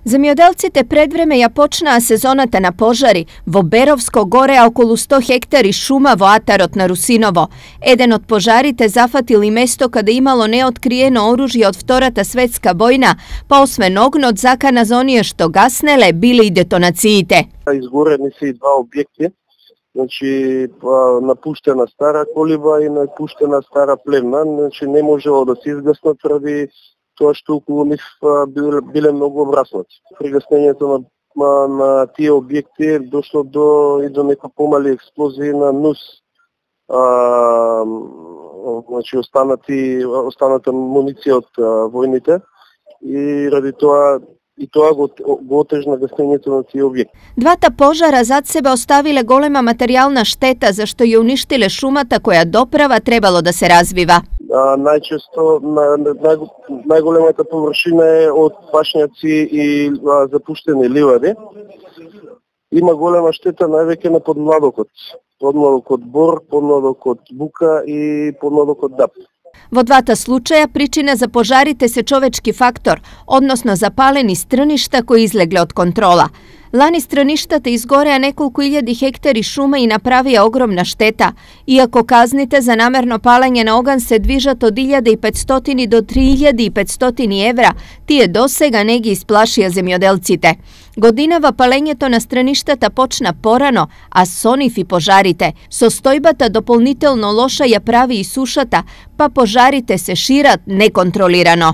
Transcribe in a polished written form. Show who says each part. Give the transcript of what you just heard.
Speaker 1: Земјоделците пред време ја почнаа сезоната на пожари во Беровско горе, а околу 100 хектари шума во атарот на Русиново. Еден од пожарите зафатил и место каде имало неоткриено оружје од Втората светска војна, па освен огнот закана за оние што гаснеле биле и детонациите.
Speaker 2: Изгорени се и два објекти, значи напуштена стара колиба и напуштена стара плевна, значи не можело да се изгаснат ради тоа што околу нив биле многу обраснати. Пригаснењето на тие објекти дошло до некои помали експлозии на НУС. Значи останата муниција од војните и ради тоа го отежна гаснењето на тие објекти.
Speaker 1: Двата пожара зад себе оставиле голема материјална штета зашто ја уништиле шумата која доправа требало да се развива.
Speaker 2: Најчесто најголемата површина е од пашњаци и запуштени ливади. Има голема штета највеќе на подмладокот. Подмладокот бор, подмладокот бука и подмладокот дап.
Speaker 1: Во двата случаја причина за пожарите се човечки фактор, односно запалени стрништа кои излегле од контрола. Лани стрништата изгореа неколку илјади хектари шума и направија огромна штета. Иако казните за намерно палење на оган се движат од 1500 до 3500 евра, тие досега не ги исплашија земјоделците. Годинава палењето на страништата почна порано, а со нив и пожарите. Состојбата дополнително лоша ја прави и сушата, па пожарите се шират неконтролирано.